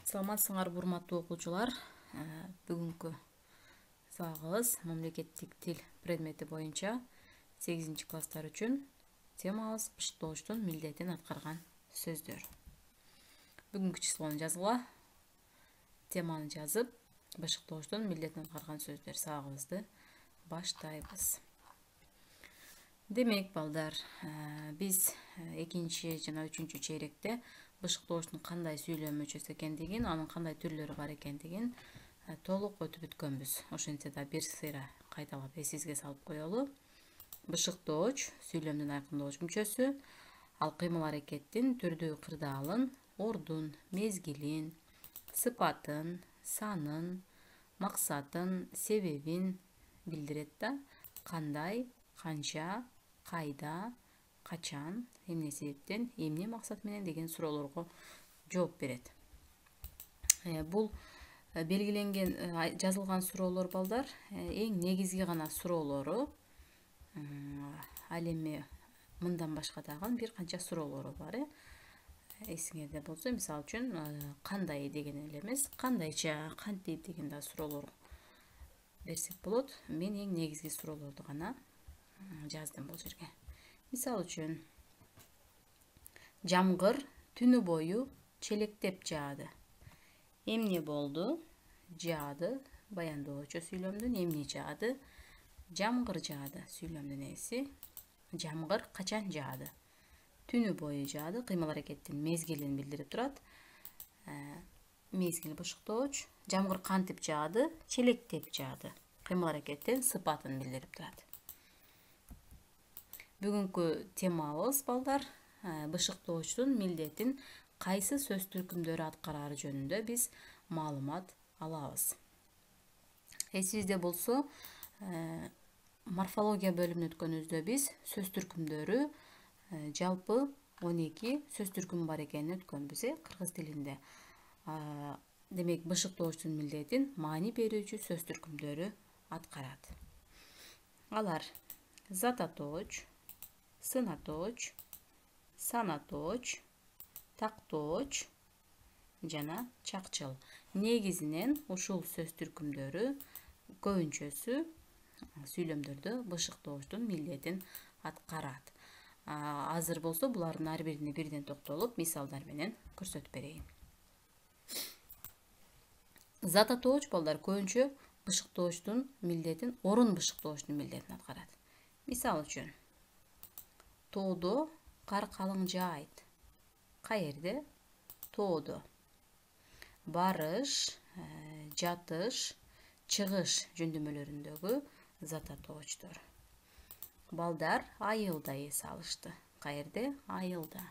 Саламатсыңарбы урматтуу окуучулар. Бүгүнкү сабагыбыз мамлекеттик тил предмети боюнча 8-класстар үчүн темабыз бышыктоочтун милдетин аткарган сөздөр. Бүгүнкү числону жазгыла. Теманы жазып, бышыктоочтун милдетин аткарган сөздөр сабагыбызды баштайбыз. Демек, балдар, биз 2 жана 3 чейректе бышыктоочтун кандай сүйлөм мүчөсү экендигин, анын кандай түрлөрү бар экендигин толук өтүп бүткөнбүз. Ошентсе да бир сыйра кайталап эсибизге салып коелу. Бышыктооч сүйлөмдүн айкындоочу мүчөсү, ал кыймыл-аракеттин түрдүү кырдаалын, ордун, мезгилин, сыпатын, санын, максатын, себебин билдирет да. Кандай, канча, кайда, качан, эмне себептен, эмне максат менен деген суроолорго жооп берет. Бул белгиленген жазылган суроолор, балдар, эң негизги гана суроолору. Ал эми мындан башка дагы бир канча суроолору бар. Эсиңерде болсо, мисалы үчүн, кандай деген эле эмес, кандайча, кантип деген да суроолор берсек болот. Мен эң негизги суроолорду гана жаздым бул жерге. Мисалы үчүн, жамгыр түнү бою челектеп жаады. Эмне болду? Жаады. Баяндоочу сүйлөмдүн эмне жаады? Жамгыр жаады. Сүйлөмдүн ээси. Жамгыр качан жаады? Түнү бою жаады. Кыймыл-аракеттин мезгилин билдирип турат. Мезгил бышыктооч. Жамгыр кантип жаады? Челектеп жаады. Кыймыл-аракеттин сыпатын билдирип турат. Бүгүнкү темабыз, балдар, бышыктоочтун милдетин кайсы сөз түркүмдөрү аткарары жөнүндө биз маалымат алабыз. Эсибизде болсо, морфология бөлүмүнө өткөнүбүздө биз сөз түркүмдөрү жалпы 12 сөз түркүмү бар экенин өткөнбүз, кыргыз тилинде. Демек, бышыктоочтун милдетин маани берүүчү сөз түркүмдөрү аткарат. Алар: зататооч, сынатооч, санатооч, тактооч жана чакчыл. Негизинен ушул сөз түркүмдөрү көбүнчөсү сүйлөмдөрдө бышыктоочтун милдетин аткарат. Азыр болсо булардын ар бирине бирден токтолуп, мисалдар менен көрсөтүп берейин. Зататооч, балдар, көбүнчө бышыктоочтун милдетин, орун бышыктоочтун милдетин аткарат. Мисалы үчүн, тоодо кар калың жаайт. Каерде? Тоодо. Барыш, жатыш, чыгыш жөндөмөлөрүндөгү зататоочтор. Балдар айылда эс алышты. Каерде? Айылда.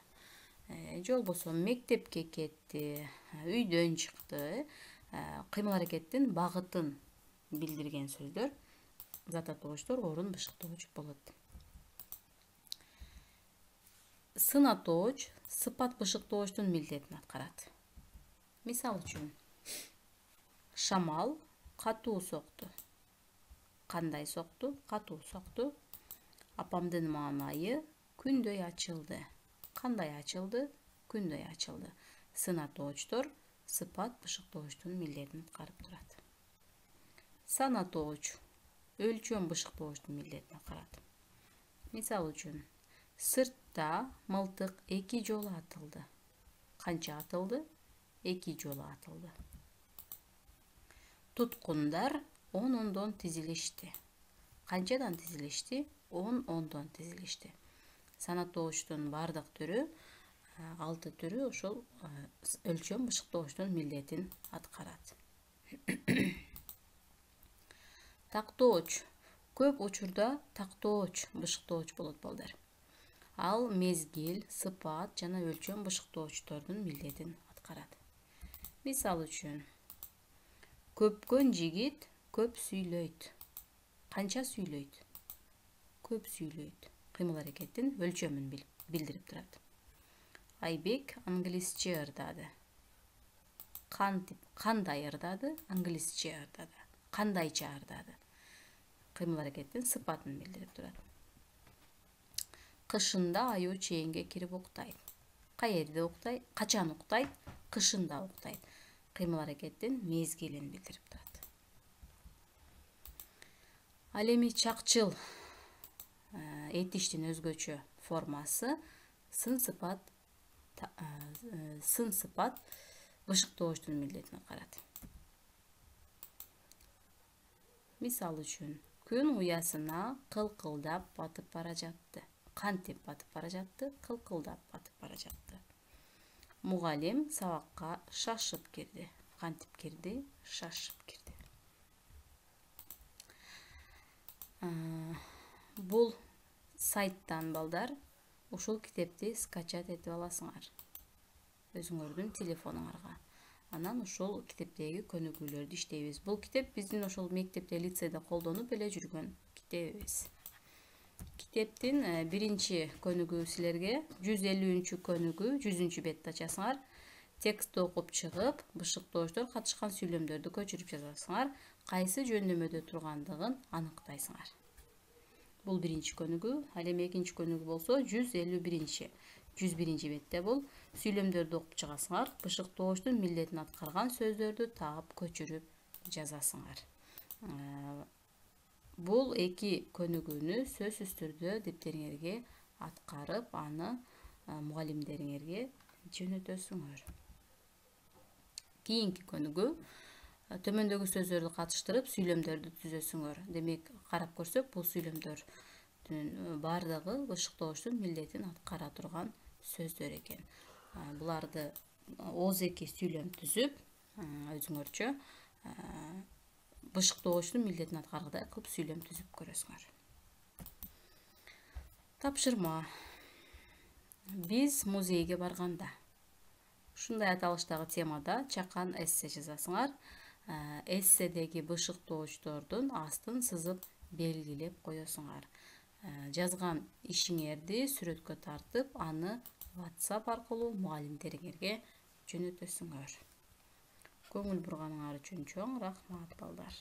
Же болбосо мектепке кетти, үйдөн чыкты. Кыймыл-аракеттин багытын билдирген сөздөр зататоочтор, орун бышыктооч болот. Сынатооч сыпат бышыктоочтун милдетин аткарат. Мисалы үчүн, шамал катуу сокту. Кандай сокту? Катуу сокту. Апамдын маанайы күндөй ачылды. Кандай ачылды? Күндөй ачылды. Сынатоочтор сыпат бышыктоочтун милдетин аткарып турат. Санатооч өлчөм бышыктоочтун милдетин аткарат. Мисалы үчүн, сыртта мылтык 2 жолу атылды. Канча атылды? 2 жолу атылды. Туткундар 10 ондон тизилишти. Канчадан тизилишти? 10 ондон тизилишти. Санатоочтун бардык түрү, 6 түрү ошол өлчөм бышыктоочтун милдетин аткарат. Тактооч көп учурда тактооч бышыктооч болот, балдар. Ал мезгил, сыпат жана өлчөм бышыктоочтордун милдетин аткарат. Мисалы үчүн, көпкөн жигит көп сүйлөйт. Канча сүйлөйт? Көп сүйлөйт. Кыймыл-аракеттин өлчөмүн билдирип турат. Айбек англисче ырдады. Кандай ырдады? Англисче ырдады. Кандайча ырдады? Кыймыл-аракеттин сыпатын билдирип турат. Кышында аюу чээнге кирип уктайт. Каерде уктайт? Качан уктайт? Кышында уктайт. кыймыл-аракеттин мезгилин билдирип турат. Ал эми чакчыл этиштин өзгөчө формасы сын сыпат бышыктоочтун милдетин аткарат. Мисал үчүн, күн уясына кылкылдап батып бара жатты. Кантип батып бара жатты? Кылкылдап батып бара жатты. Мугалим сабакка шашып кирди. Кантип кирди? Шашып кирди. Бул сайттан балдар ушул китепти скачать этип аласыңар өзүңөрдүн телефонуңарга. Анан ушул китептеги көнүгүүлөрдү иштейбиз. Бул китеп биздин ошол мектепте, лицейде колдонуп эле жүргөн китебибиз. Китептин биринчи көнүгүү силерге 150 көнүгүү 100 бетти ачасыңар. Текстти окуп чыгып, бышыктоочтор катышкан сүйлөмдөрдү көчүрүп жазасыңар. Кайсы жөндөмөдө тургандыгын аныктайсыңар. Бул биринчи көнүгүү. Ал эми экинчи көнүгүү болсо 101 бетте бул сүйлөмдөрдү окуп чыгасыңар. Бышыктоочтун милдетин аткарган сөздөрдү таап көчүрүп жазасыңар. Бул эки көнүгүүнү сөзсүз түрдө дептериңерге аткарып, аны мугалимдериңерге жөнөтөсүңөр. Кийинки көнүгүү төмөндөгү сөздөрдү катыштырып сүйлөмдөрдү түзөсүңөр. Демек, карап көрсөк, бул сүйлөмдөрдүн баардыгы бышыктоочтун милдетин аткара турган сөздөр экен. Буларды ооз-эки сүйлөм түзүп, өзүңөрчө бышыктоочтун милдетин аткаргыдай кылып сүйлөм түзүп көрөсүңөр. Тапшырма. Биз музейге барганда. Ушундай аталыштагы темада чакан эссе жазасыңар. Эсседеги бышыктоочтордун астын сызып белгилеп коесуңар. Жазган ишиңерди сүрөткө тартып, аны WhatsApp аркылуу мугалимдериңерге жөнөтөсүңөр. Көңүл бурганыңар үчүн чоң рахмат балдар.